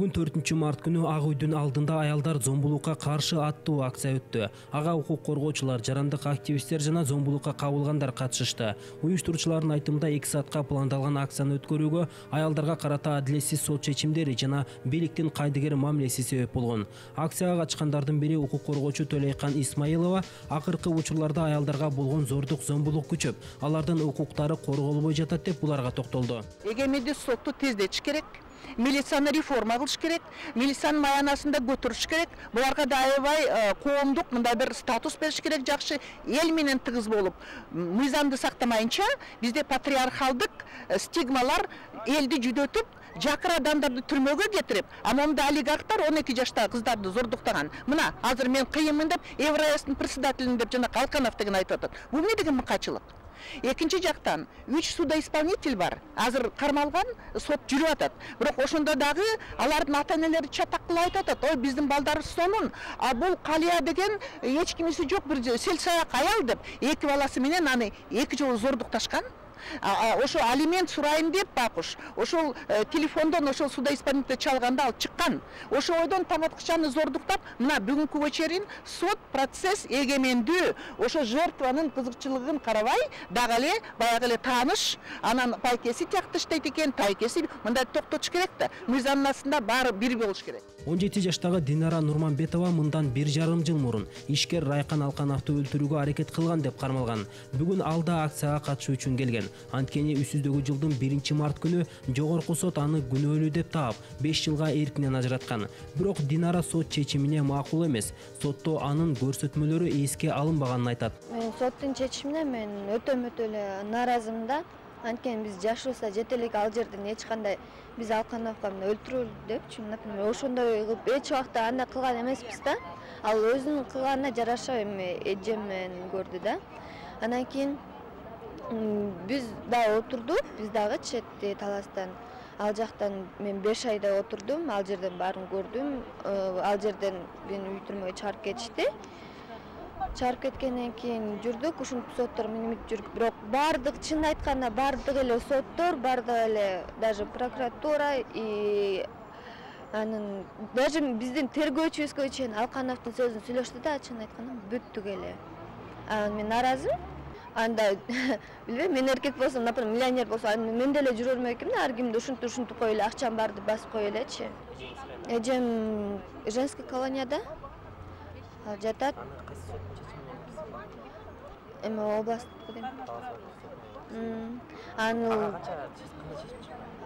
Бүгүн 4-март күнү Ак үйдүн алдында аялдар зомбулукка каршы аттуу акция өттү. Ага укук коргоочулар, жарандык активисттер жана зомбулукка кабылгандар катышышты. Уюштуруучулардын айтымында 2 саатка пландалган акцияны өткөрүүгө аялдарга карата адилетсиз сот чечимдери жана бийликтин кайдыгер мамилеси себеп болгон. Акцияга катышкандардын бири укук коргоочу Төлөйкан Исмаилова акыркы учурларда аялдарга болгон зордук, зомбулук күчөп, алардын укуктары корголбой жатат деп буларга токтолду. Эгемендик сотту тездетиш керек. Милицияны реформа кылыш керек, милициянын маянасында көтөрүш керек. Буларга да аябай коомдук мындай бир статус бериш керек, жакшы эл менен тыгыз болуп, мыйзамды сактамайынча бизде патриархалдык стигмалар элди жүдөтүп, жакыр адамдарды түрмөгө кетирип, а монда олигархтар 12 жаштагы кыздарды зордуктаган. Мына азыр мен кыйынмын деп Евроястын председателин деп жана Калканов деген айтып атат. Бул эмне деген мыкачылык? Экинчи жактан 3 судоисполнитель бар. Азыр кармалган, сот жүрүп атат. Бирок ошондо дагы алардын ата-энелери чатак кылып айтып атат. Ой, биздин балдарыбыз сонун, а бул Калия деген эч кимиси жок бир селсаяк аял деп 2 баласы менен аны 2 жолу зордукташкан. Ошо алимент сурайын деп бакуш. Ошол телефондон ошол судоисполнитель чалганда ал чыккан. Ошо ойдон таң аткычаны зордуктап, мына бүгүнкүгө чейин сот процесс эгемендүү. Ошо жертванын кызыкчылыгын карабай, дагы эле баягы эле тааныш, анан пайкеси тиякты иштейт экен, тайкеси мындай токтотуш керек да. Мыйзамдын астында баары бир болуш керек. 17 жаштагы Динара Нурманбетова мындан 1,5 жыл мурун ишкер Райкан Алкановду өлтүрүүгө аракет кылган деп кармалган. Бүгүн ал да акцияга катышуу үчүн келген. Анткени үстүздөгү жылдын 1-март күнү жогорку сот аны күнөөлүү деп таап 5 жылга эркинен ажыраткан. Бирок Динара сот чечимине макул эмес. Сотто анын көрсөтмөлөрү эске алынбаганын айтат. Соттун чечимине мен өтө эле нааразымын да. Анткени биз жашыбызда жете элек ал жерден эч кандай биз Алкановго өлтүрөлү депчи, например, ошондой кылып эч убакта андай кылган эмеспиз да. Ал өзүнүн кылганына жараша эми эжем менен көрдү да. Анан кийин биз да отурдук, биз дагы четти таластан. Ал жактан мен 5 айда отурдум, ал жерден баарын көрдүм. Ал жерден мени үй түрмөгө чыгарып кетишти. Чыгарып кеткенден кийин жүрдүк, ушинтип соттор минимит жүрүп, бирок баардык чын айтканда баардык эле соттор, баардык эле даже прокуратура и анын даже биздин тергөөчүбүзгө чейин Алкановдун сөзүн сүйлөштү да, чын айтканда бүттүк эле. Анан мен нааразымын. Анда билбейм, мен эркек болсом, например, миллионер болсом, мен деле жүрө бермекмин, ар кимди ушинтип кой эле, акчам барды басып кой элечи. Эжем женский колонияда жатат. Эми областтык дейм.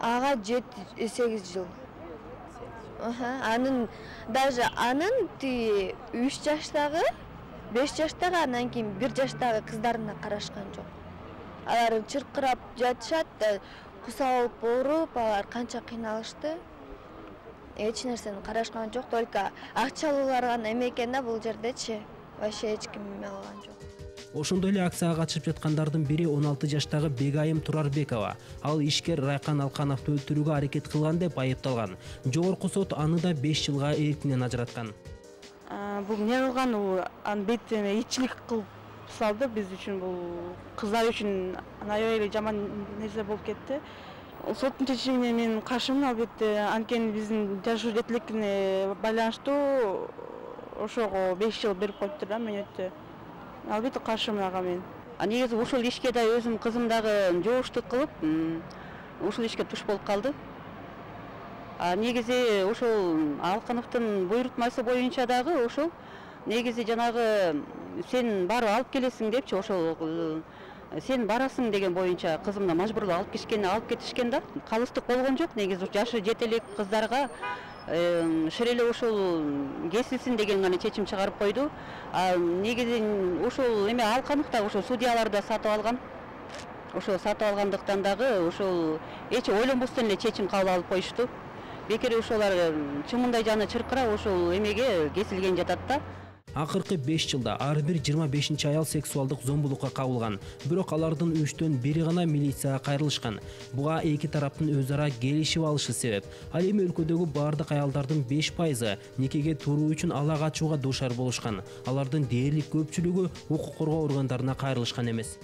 Ага 7-8 жыл. Анын даже анын 3 жаштагы 5 жаштагы, анан кийин 1 жаштагы кыздарына карашкан жок. Алар чыркырап жатышат, кусалып ооруп, алар канча кыйналышты. Эч нерсени карашкан жок, только акчалуулар гана эме экен да бул жердечи. Вообще эч ким эме алган жок. Ошондой эле акцияга катышып жаткандардын бири 16 жаштагы Бегайым Турарбекова. Ал ишкер Райкан Алкановду өлтүрүүгө аракет кылган деп айыпталган. Жогорку сот аны да 5 жылга эркинен ажыраткан. Бул эмне кылган, анын бетине ичилик кылып салды. Биз үчүн бул кыздар үчүн аябай эле жаман нерсе болуп кетти. Соттун чечимине мен каршымын, албетте. Анткени биздин жашоо жетиликине байланыштуу ошого 5 жыл берип коюптур да, мөөнөттө. Албетте каршымын ага мен. Негизи ушул ишке да өзүм кызым дагы жооштук кылып, ушул ишке туш болуп калды. Негизи ошол Алкановдун буйрутмасы боюнча дагы ошол негизи жанагы сен барып алып келесиң депчи, ошол сен барасың деген боюнча кызымды мажбурлап алып кетишкен да. Калыстык болгон жок, негизи жашы жете элек кыздарга ширеле ошол кесилсин деген гана чечим чыгарып койду. Негизи ошол эме Алканов да ошол судьяларды сатып алган. Ошол сатып алгандыктан дагы ошол эч ойлонбостон эле чечим кабыл алып коюшту. Бекер ошолар чымындай жаны чыркырап ошол эмеге кесилген жатат да. Акыркы 5 жылда ар бир 25 аял сексуалдык зомбулукка кабылган. Бирок алардын 3төн бири гана милицияга кайрылышкан. Буга эки тараптын өз ара келишип алышы себеп. Ал эми өлкөдөгү бардык аялдардын 5% никеге туруу үчүн ала качууга дуушар болушкан. Алардын дээрлик көпчүлүгү укук коргоо органдарына кайрылышкан эмес.